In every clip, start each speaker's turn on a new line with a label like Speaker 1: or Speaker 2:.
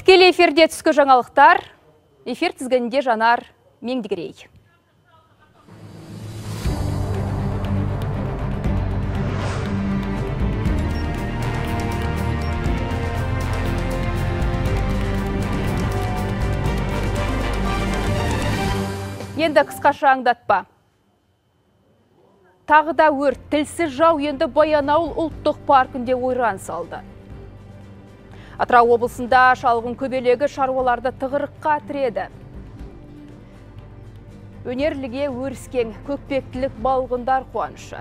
Speaker 1: Тікелей эфирде түскі жаңалықтар, эфир тізгінінде Жанар Меңдігерей. Енді қысқаша аңдатпа. Тағы да өрт, тілсіз жау енді Баянауыл ұлттық паркінде ойран салды. Атырау облысында шалғын көбелегі шаруаларды тығырыққа тіреді. Өнерліге өріскен көкпектілік балғындар қуанышы.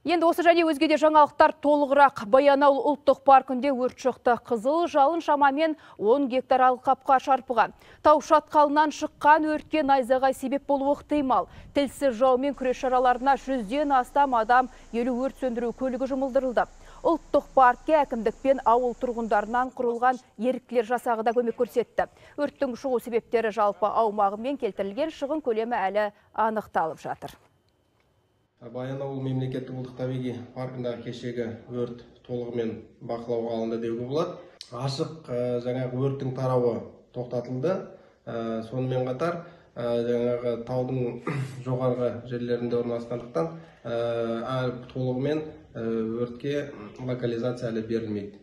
Speaker 1: Енді осы және өзгеде жаңалықтар толығырақ. Баянауыл ұлттық паркінде өрт шықты. Қызыл жалын шамамен 10 гектар алқапқа шарпыған. Тау шатқалынан шыққан өртке найзағай себеп болуы ықтимал. Тілсіз жаумен күрес шараларына 100-ден астам адам 50 өрт сөндіру көлігі жұмылдырылды. Ұлттық паркке әкімдікпен ауыл тұрғындарынан құрылған еріктілер жасағы да көмек көрсетті. Өрттің шығу себептері жалпы аумағымен келтірілген шығын көлемі әлі анықталып жатыр.
Speaker 2: Баянауыл мемлекеттік ұлттық табиғи паркындағы кешегі өрт толығымен бақылауға алынды деуге болады. Ашық жаңағы өрттің тарауы тоқтатылды. Сонымен қатар жаңағы таудың жоғарғы жерлерінде орналасқандықтан толығымен өртке локализация әлі берілмейді.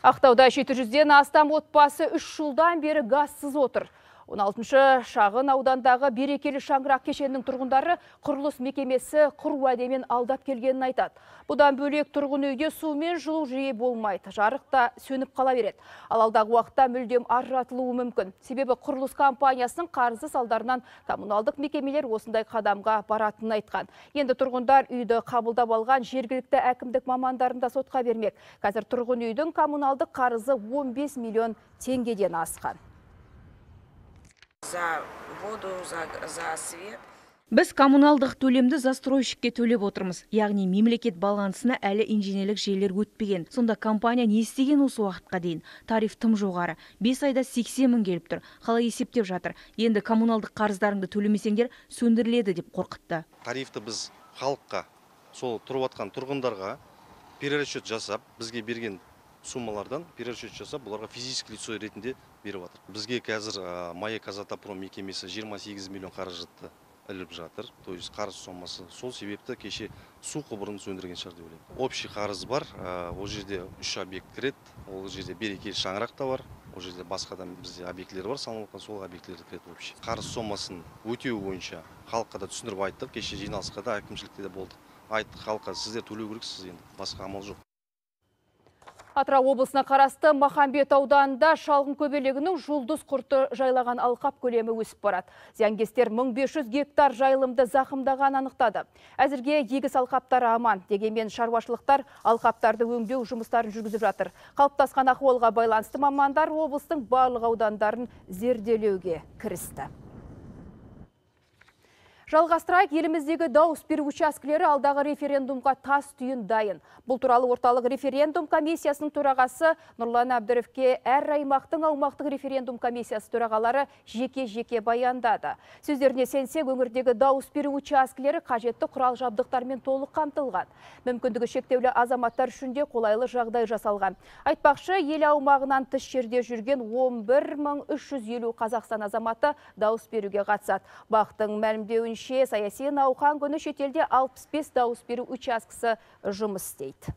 Speaker 1: Ақтауда 700-ден астам отбасы 3 жылдан бері газсыз отыр. 16-шы шағын аудандағы берекелі шаңырақ кешенінің тұрғындары құрылыс мекемесі құр уәдемен алдап келгенін айтады. Бұдан бөлек тұрғын үйде су мен жылу жиі болмайды. Жарық та сөніп қала береді. Ал алдағы уақытта мүлдем ажыратылуы мүмкін. Себебі құрылыс компаниясының қарызы салдарынан коммуналдық мекемелер осындай қадамға баратынын айтқан. Енді тұрғындар үйді қабылдап алған жергілікті әкімдік мамандарында сотқа бермек. Қазір тұрғын үйдің коммуналдық қарызы 15 миллион теңгеден асқан.
Speaker 3: За воду, за свет.
Speaker 4: Біз коммуналдық төлемді застройщикке төлеп отырмыз. Яғни мемлекет балансына әлі инженерлік желілер өтпеген. Сонда компания не істеген осы уақытқа дейін? Тариф тым жоғары. 5 айда 80 мың келіп тұр. Қалай есептеп жатыр? Енді коммуналдық қарыздарыңды төлемесеңдер сөндіріледі деп қорқытты.
Speaker 5: Тарифті біз халыққа, сол тұрып атқан тұрғындарға перерасчет жасап, бізге берген суммалардан перерасчет жасап, бұларға физический лицо ретінде беріп жатыр. Бізге қазір Маяк Казатомпром мекемесі 28 миллион қаражатты іліп жатыр. То есть қарыз сомасы. Сол себепті кеше су құбырын сөндірген шығар деп ойлаймын. Общий қарыз бар. Ол жерде 3 объект кіреді. Ол жерде берекелі шаңырақ та бар. Ол жерде басқа да бізде объектілер бар, салынған сол объектілерді кіреді общий. Қарыз сомасын өтеу бойынша халыққа да түсіндіріп айттық. Кеше жиналысқа да әкімшілікте де болды. Айттық халыққа, сіздер төлеу керексіз, енді басқа амал жоқ.
Speaker 1: Атырау облысына қарасты Махамбет ауданында шалғын көбелегінің жұлдыз құрты жайлаған алқап көлемі өсіп барады. Зиянгестер 1500 гектар жайылымды зақымдаған анықтады. Әзірге егіс алқаптары аман. Дегенмен шаруашылықтар алқаптарды өңдеу жұмыстарын жүргізіп жатыр. Қалыптасқан ахуалға байланысты мамандар облыстың барлық аудандарын зерделеуге кірісті. Жалғастырайық, еліміздегі дауыс беру учаскелері алдағы референдумға тас түйін дайын. Бұл туралы орталық референдум комиссиясының төрағасы Нұрлан Әбдіровке әр аймақтың аумақтық референдум комиссиясы төрағалары жеке-жеке баяндады. Сөздеріне сенсек, өңірдегі дауыс беру учаскелері қажетті құрал жабдықтармен толық қамтылған. Мүмкіндігі шектеулі азаматтар үшін де қолайлы жағдай жасалған. Айтпақшы, ел аумағынан тыс жерде жүрген 11350 Қазақстан азаматы дауыс беруге қатысады. Бақтың мәлімдеуінше саяси науқан күні шетелде 65 дауыс беру учаскесі жұмыс істейді.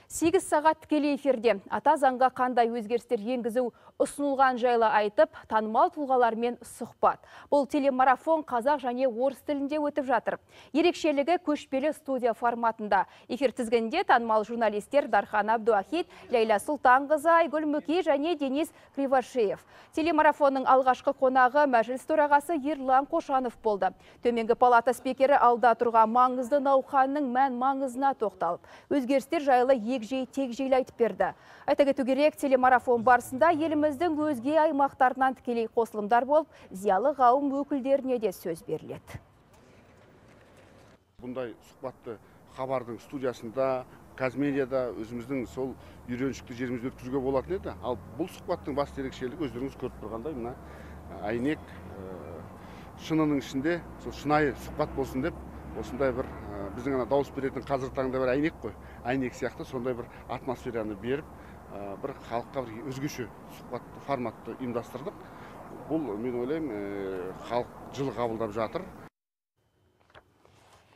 Speaker 1: 8 сағат тікелей эфирде ата заңға қандай өзгерістер енгізу ұсынылған жайлы айтып, танымал тұлғалармен сұхбат. Бұл телемарафон қазақ және орыс тілінде өтіп жатыр. Ерекшелігі көшпелі студия форматында. Эфир тізгінінде танымал журналистер Дархан Абдуахит, Лейла Сұлтанқызы, Айгүл Мүки және Денис Кривошеев. Телемарафонның алғашқы қонағы мәжіліс төрағасы Ерлан Қошанов болды. Төменгі палата спикері алда тұрған маңызды науқанның мән-маңызына тоқталып, өзгерістер жайлы егжей-тегжейлі айтып берді. Айта кету керек, телемарафон барысында еліміздің өзге аймақтарынан тікелей қосылымдар болып, зиялы қауым өкілдеріне де сөз беріледі.
Speaker 6: Бұндай сұхбатты хабардың студиясында, Казмедияда өзіміздің сол үйреншікті жерімізді өткізуге болатын еді. Ал бұл сұхбаттың басты ерекшелігі өздеріңіз көріп тұрғандай, мына әйнек шынының ішінде сол шынайы сұхбат болсын деп осындай бір біздің ана дауыс беретін қазіргі таңда бір әйнек қой, әйнек сияқты сондай бір атмосфераны беріп, бір халыққа бір өзгеше сұхбатты форматты ұйымдастырдық. Бұл мен ойлаймын, халық жылы қабылдап жатыр.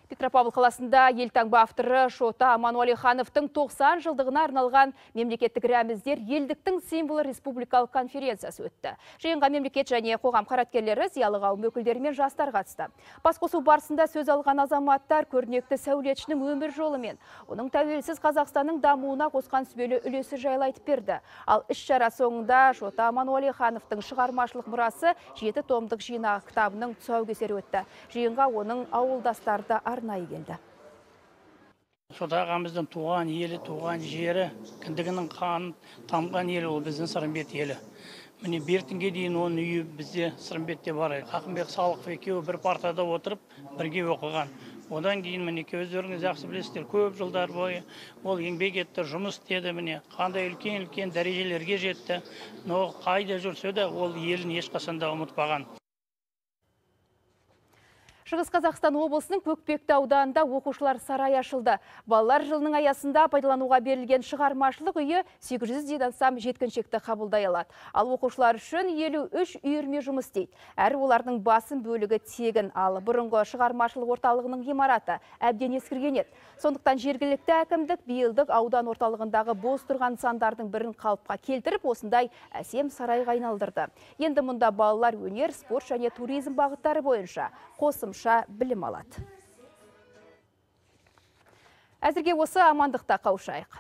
Speaker 1: Петропавл қаласында елтаңба авторы Шота Амануалихановтың 90 жылдығына арналған мемлекеттік рәміздер елдіктің символы республикалық конференциясы өтті. Жиынға мемлекет және қоғам қайраткерлері, зиялы қауым өкілдері мен жастар қатысты. Басқосу барысында сөз алған азаматтар көрнекті сәулетшінің өмір жолы мен оның тәуелсіз Қазақстанның дамуына қосқан сүбелі үлесі жайлы айтып берді. Ал іс-шара соңында Шота Амануалихановтың шығармашылық мұрасы 7 томдық жинақ кітабының тұсаукесері өтті. Жиынға оның ауылдастары да арнайы келді.
Speaker 7: Шота ағамыздың туған елі, туған жері, кіндігінің қанын тамған елі, ол біздің Сырымбет елі. Міне бертінге дейін оның үйі бізде Сырымбетте бар. Ақынбек Салықов екеуі бір партада отырып, бірге оқыған. Одан кейін мінеке өздеріңіз жақсы білесіздер, көп жылдар бойы ол еңбек етті, жұмыс істеді, міне қандай үлкен дәрежелерге жетті. Но қайда жүрсе де ол елін ешқашанда ұмытпаған.
Speaker 1: Шығыс Қазақстан облысының Көкпекті ауданында оқушылар сарайы ашылды. Балалар жылының аясында пайдалануға берілген шығармашылық үйі 800-ден астам жеткіншекті қабылдай алады. Ал оқушылар үшін 53 үйірме жұмыс істейді. Әрі олардың басым бөлігі тегін, ал бұрынғы шығармашылық орталығының ғимараты әбден ескірген еді. Сондықтан жергілікті әкімдік биылдық аудан орталығындағы бос тұрған нысандардың бірін қалыпқа келтіріп, осындай әсем сарайға айналдырды. Енді мұнда балалар өнер, спорт және туризм бағыттары бойынша қосымша білім алады. Әзірге осы, амандықта қауышайық.